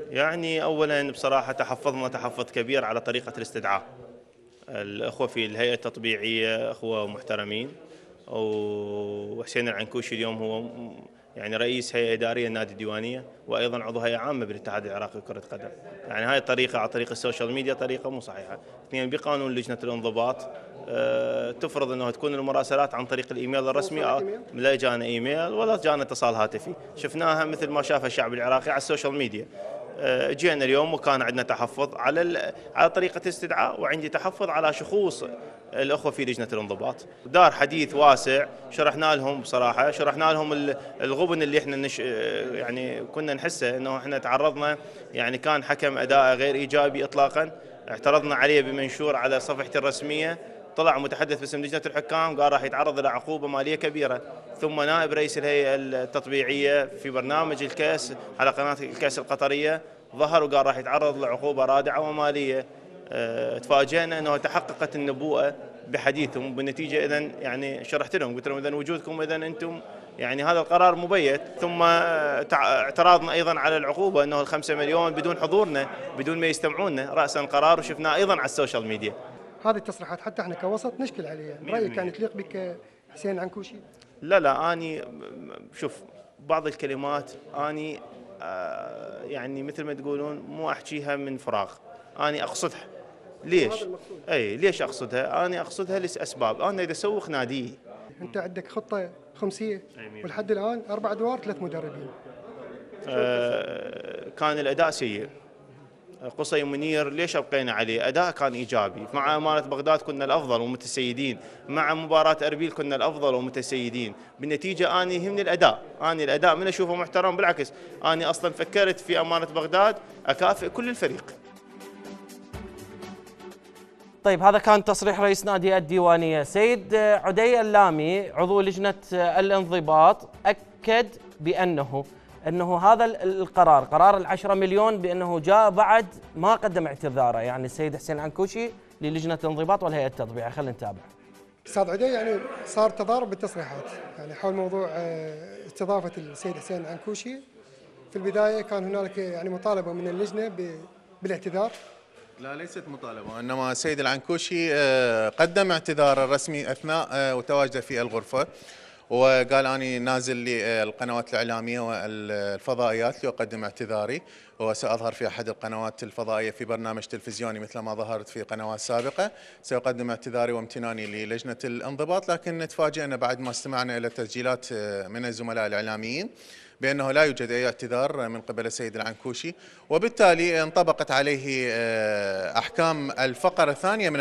يعني أولاً بصراحة تحفظنا تحفظ كبير على طريقة الاستدعاء. الأخوة في الهيئة التطبيعية أخوة محترمين، وحسين العنكوشي اليوم هو يعني رئيس هيئة إدارية النادي الديوانية، وأيضاً عضو هيئة عامة بالاتحاد العراقي لكرة القدم. يعني هاي الطريقة على طريق السوشيال ميديا طريقة مو صحيحة. اثنين، بقانون لجنة الانضباط تفرض أنه تكون المراسلات عن طريق الإيميل الرسمي، لا جانا إيميل ولا جانا اتصال هاتفي، شفناها مثل ما شافها الشعب العراقي على السوشيال ميديا. جينا اليوم وكان عندنا تحفظ على طريقة الاستدعاء، وعندي تحفظ على شخوص الأخوة في لجنة الانضباط. دار حديث واسع، شرحنا لهم بصراحة، شرحنا لهم الغبن اللي احنا يعني كنا نحسه، انه احنا تعرضنا، يعني كان حكم أداء غير إيجابي إطلاقا، اعترضنا عليه بمنشور على صفحتي الرسمية، طلع متحدث باسم لجنة الحكام قال راح يتعرض إلى عقوبة مالية كبيرة. ثم نائب رئيس الهيئة التطبيعية في برنامج الكاس على قناة الكاس القطرية ظهر وقال راح يتعرض لعقوبة رادعة ومالية. تفاجئنا أنه تحققت النبوءة بحديثهم. بالنتيجة إذن يعني شرحت لهم، قلت لهم إذن وجودكم إذن أنتم يعني هذا القرار مبيت. ثم اعتراضنا أيضا على العقوبة أنه 5 مليون بدون حضورنا، بدون ما يستمعونا رأسا القرار، وشفناه أيضا على السوشيال ميديا. هذه التصريحات حتى احنا كوسط نشكل عليها، برأيك كانت تليق بك حسين العنكوشي؟ لا أني شوف بعض الكلمات أني يعني مثل ما تقولون مو أحكيها من فراغ، أني أقصدها. ليش؟ أي ليش أقصدها؟ أنا أقصدها لأسباب. أنا إذا أسوق نادي، أنت عندك خطة خمسية ولحد الآن 4 أدوار 3 مدربين. كان الأداء سيء. قصي منير ليش أبقينا عليه؟ أداء كان إيجابي. مع أمانة بغداد كنا الأفضل ومتسيدين، مع مباراة أربيل كنا الأفضل ومتسيدين. بالنتيجة أنا يهمني الأداء، أنا الأداء من أشوفه محترم، بالعكس أنا أصلا فكرت في أمانة بغداد أكافئ كل الفريق. طيب هذا كان تصريح رئيس نادي الديوانية. سيد عدي اللامي عضو لجنة الانضباط أكد بأنه هذا القرار، قرار ال10 مليون، بأنه جاء بعد ما قدم اعتذاره، يعني السيد حسين العنكوشي للجنة الانضباط والهيئة التطبيعية. خلينا نتابع. استاذ عدي، يعني صار تضارب بالتصريحات يعني حول موضوع استضافة السيد حسين العنكوشي. في البداية كان هنالك يعني مطالبة من اللجنة بالاعتذار. لا، ليست مطالبة، وإنما السيد العنكوشي قدم اعتذار رسمي أثناء وتواجده في الغرفة، وقال أني نازل للقنوات الإعلامية والفضائيات لأقدم اعتذاري، وسأظهر في أحد القنوات الفضائية في برنامج تلفزيوني مثل ما ظهرت في قنوات سابقة. سأقدم اعتذاري وامتناني للجنة الانضباط. لكن تفاجئنا بعد ما استمعنا إلى تسجيلات من الزملاء الإعلاميين بأنه لا يوجد أي اعتذار من قبل السيد العنكوشي، وبالتالي انطبقت عليه أحكام الفقرة الثانية من